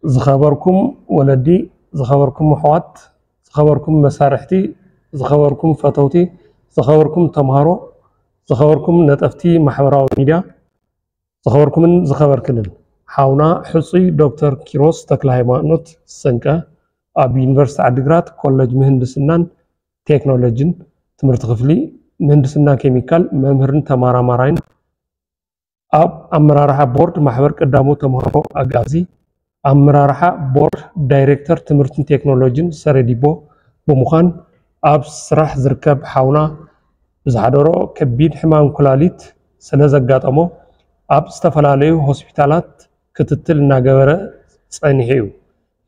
ዝኸበርኩም ወለዲ፣ ዝኸበርኩም ኣሕዋት፣ ዝኸበርኩም መሳርሕቲ፣ ዝኸበርኩም ፈተውቲ፣ ዝኸበርኩም ተምሃሮ፣ ዝኸበርኩም ነጠፍቲ ማሕበራዊ ሚድያ፣ ዝኸበርኩምን ዝኸበርክንን፣ ሓውና ሕጹይ ዶክተር ኪሮስ ተክለ ሃይማኖት ሰንቀ ኣብ ዩኒቨርሲቲ ዓዲግራት ኮሌጅ ምህንድስናን ቴክኖሎጂን ትምህርቲ ክፍሊ ምህንድስና ኬሚካል መምህርን ተመራማራይን፣ ኣብ ኣመራርሓ ቦርድ ማሕበር ቀዳሞት ተምሃሮ ኣጋዚ፣ ኣመራርሓ ቦርድ ዳይሬክተር ትምህርትን ቴክኖሎጂን ሰረዲቦ ብምዃን ኣብ ስራሕ ዝርከብ ሓውና ብዝሓደሮ ከቢድ ሕማም ኩላሊት ስለ ዘጋጠሞ ኣብ ዝተፈላለዩ ሆስፒታላት ክትትል እናገበረ ጸኒሑ እዩ።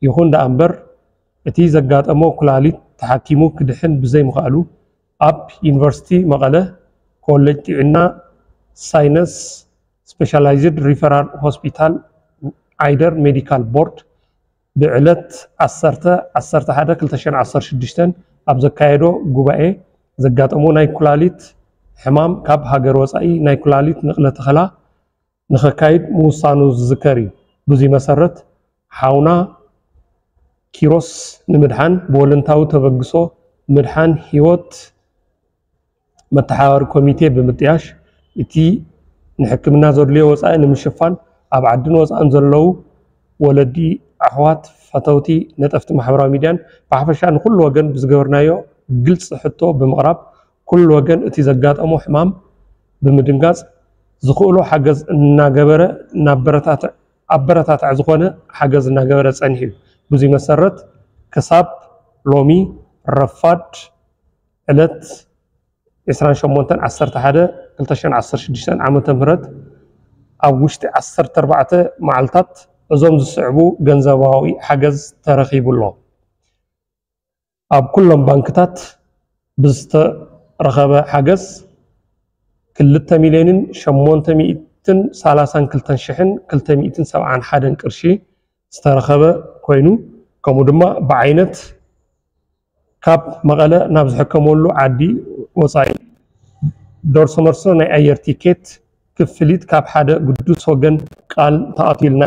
ይኹን ደኣ እምበር እቲ ዘጋጠሞ ኩላሊት ተሓኪሙ ክድሕን ብዘይምኽኣሉ ኣብ ዩኒቨርሲቲ መቐለ ኮሌጅ ጥዕና ሳይነስ ስፔሻላይዝድ ሪፈራል ሆስፒታል ዓይደር ሜዲካል ቦርድ ብዕለት ዓሰርተ ዓሰርተ ሓደ ክልተ ሽሕን ዓሰርተ ሽዱሽተን ኣብ ዘካየዶ ጉባኤ ዘጋጠሞ ናይ ኩላሊት ሕማም ካብ ሃገር ወፃኢ ናይ ኩላሊት ንቕለ ተኸላ ንኸካይድ ምውሳኑ ዝዝከር እዩ። ብዙይ መሰረት ሓውና ኪሮስ ንምድሓን ብወለንታዊ ተበግሶ ምድሓን ህይወት መተሓባሪ ኮሚቴ ብምጥያሽ እቲ ንሕክምና ዘድልዮ ወፃኢ ንምሽፋን ኣብ ዓድን ወፃእን ዘለዉ ወለዲ፣ ኣሕዋት፣ ፈተውቲ፣ ነጠፍቲ ማሕበራዊ ሚድያን ብሓፈሻ ንኩሉ ወገን ብዝገበርናዮ ግልፂ ሕቶ ብምቕራብ ኩሉ ወገን እቲ ዘጋጠሞ ሕማም ብምድንጋፅ ዝኽእሎ ሓገዝ እናገበረ እናበረታትዕ ኣበረታታዕ ዝኾነ ሓገዝ እናገበረ ፀኒሑ እዩ። ብዙይ መሰረት ክሳብ ሎሚ ረፋድ ዕለት ዕስራን ሸሞንተን ዓሰርተ ሓደ ክልተ ሽሕን ዓሰርተ ሽዱሽተን ዓመተ ምህረት ኣብ ውሽጢ ዓሰርተ ኣርባዕተ መዓልታት እዞም ዝስዕቡ ገንዘባዊ ሓገዝ ተረኺቡ ኣሎ። ኣብ ኩሎም ባንክታት ብዝተረኸበ ሓገዝ ክልተ ሚልዮንን ሸሞንተ ሚእትን ሰላሳን ክልተን ሽሕን ክልተ ሚእትን ሰብዓን ሓደን ቅርሺ ዝተረኸበ ኮይኑ፣ ከምኡ ድማ ብዓይነት ካብ መቐለ ናብ ዝሕከመሉ ዓዲ ወፃኢ ደርሶ መርሶ ናይ ኣየር ቲኬት ክፍሊት ካብ ሓደ ግዱስ ወገን ቃል ተኣትዩልና።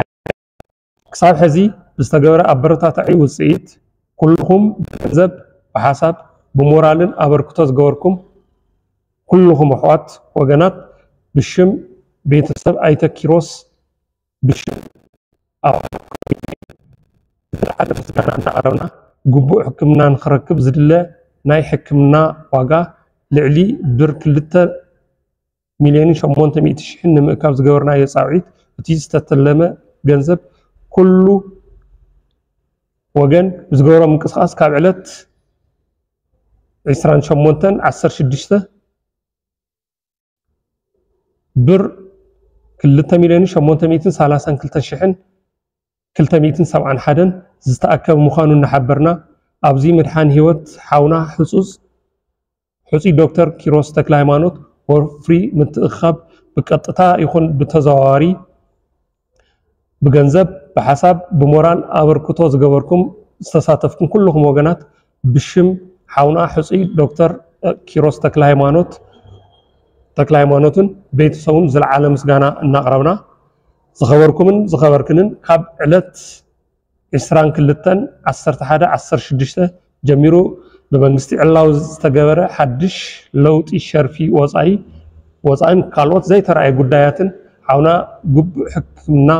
ክሳብ ሕዚ ብዝተገበረ ኣበረታታዒ ውፅኢት ኩልኹም ብገንዘብ፣ ብሓሳብ፣ ብሞራልን ኣበርክቶ ዝገበርኩም ኩልኹም ኣሕዋት ወገናት ብሽም ቤተሰብ ኣይተ ኪሮስ ብሽም ኣብ ዝለዓለ ምስጋና እናቕረብና ግቡእ ሕክምና ንክረክብ ዝድለ ናይ ሕክምና ዋጋ ልዕሊ ብር ክልተ ሚልዮንን ሸሞንተ ሚእቲ ሽሕን ንምእካብ ዝገበርናዮ ፃውዒት እቲ ዝተተለመ ገንዘብ ኩሉ ወገን ብዝገበሮ ምንቅስቃስ ካብ ዕለት ዕስራን ሸሞንተን ዓሰርተ ሽዱሽተ ብር ክልተ ሚልዮን ሸሞንተ ሚእትን ሰላሳን ክልተ ሽሕን ክልተ ሚእትን ሰብዓን ሓደን ዝተኣከበ ምዃኑ እናሓበርና ኣብዚ ምድሓን ህይወት ሓውና ሕፁፅ ሕፁይ ዶክተር ኪሮስ ተክለ ሃይማኖት ወፍሪ ምትእኽኻብ ብቀጥታ ይኹን ብተዘዋዋሪ ብገንዘብ፣ ብሓሳብ፣ ብሞራል ኣበርክቶ ዝገበርኩም ዝተሳተፍኩም ኩልኹም ወገናት ብሽም ሓውና ሕፁይ ዶክተር ኪሮስ ተክለ ሃይማኖት ተክለ ሃይማኖትን ቤተሰቡን ዝለዓለ ምስጋና እናቕረብና ዝኸበርኩምን ዝኸበርክንን ካብ ዕለት ዕስራን ክልተን ዓሰርተ ሓደ ዓሰርተ ሽዱሽተ ጀሚሩ ብመንግስቲ ዕላዊ ዝተገበረ ሓድሽ ለውጢ ሸርፊ ወፃኢ ወፃኢን ካልኦት ዘይተረኣየ ጉዳያትን ሓውና ግቡእ ሕክምና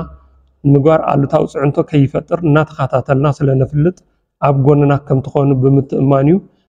ንምግባር ኣሉታዊ ፅዕንቶ ከይፈጥር እናተኸታተልና ስለነፍልጥ ኣብ ጎንና ከምትኾኑ ብምትእማን እዩ።